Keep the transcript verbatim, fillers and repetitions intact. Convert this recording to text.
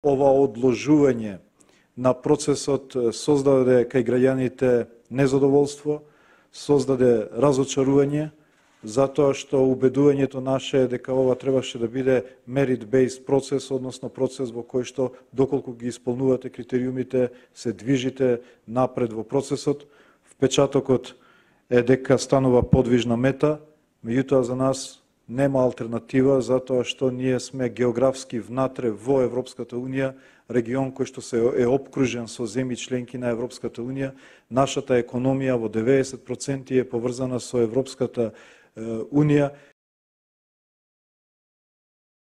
ова одложување на процесот создаде кај граѓаните незадоволство, создаде разочарување, затоа што убедувањето наше е дека ова требаше да биде merit-based процес, односно процес во кој што доколку ги исполнувате критериумите, се движите напред во процесот. Впечатокот е дека станува подвижна мета, меѓутоа за нас нема алтернатива, затоа што ние сме географски внатре во Европската Унија, регион кој што се е опкружен со земји членки на Европската Унија. Нашата економија во деветдесет проценти е поврзана со Европската Унија